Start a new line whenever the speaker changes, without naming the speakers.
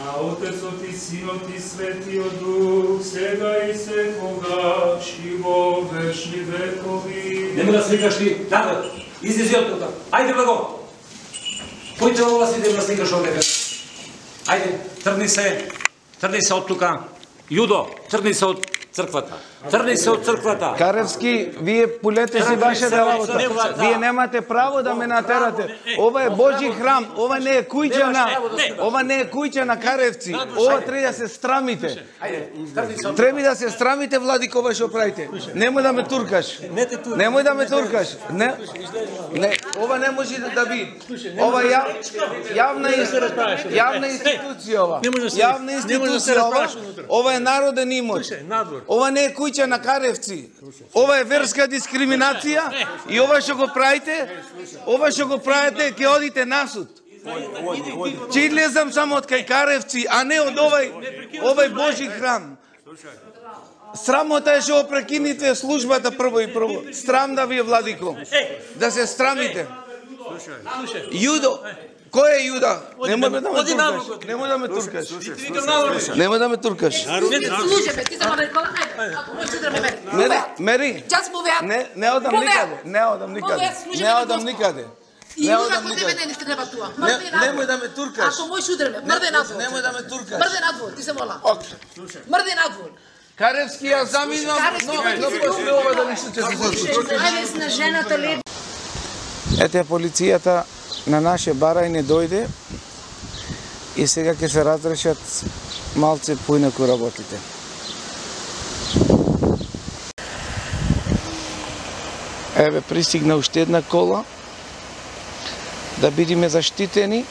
на Отецот и Синот и Светиот Дух, сега и секогаш и во вечни векови.
Нема да сликаш ти, да, излези од тука. Ајде благо. Појте ова си да сликаш овде. Ајде, тргни се од тука. Јудо, тргни се од црквата. Тргни се од црквата.
Каревски, вие пулете си вашата работа. Вие немате право да ме натерате. Ова е Божи храм, ова не е куќа на Каревци. Ова треба да се страмите. Треба да се страмите, владико, ова што правите. Немој да ме туркаш. Немој да ме туркаш. Не, ова не може да би. Ова јавна институција ова. Јавна институција ова. Ова е народен имот. Ова не е куќа на Каревци. Ова е верска дискриминација и ова што го правите, ќе одите на суд. Ќе излезам само од кај Каревци, а не од овај Божи храм. Срамота е што прекините службата прво и прво. Срам да ви е, владико. Да се срамите. Јудо, кој е Јуда? Немој да ме туркаш. Немој да ме туркаш. Мери. Не одам никаде. Немој да ме туркаш.
Ако мој шудреме, мрде надвор.
Немој да ме туркаш.
Мрде надвор, ти се мола. Мрде надвор.
Каревски, ја заминувам, но после ова да не се случи. Ете, полицијата на наше барај не дојде и сега ќе се разрешат малце поинаку работите. Еве, пристигна уште една кола да бидеме заштитени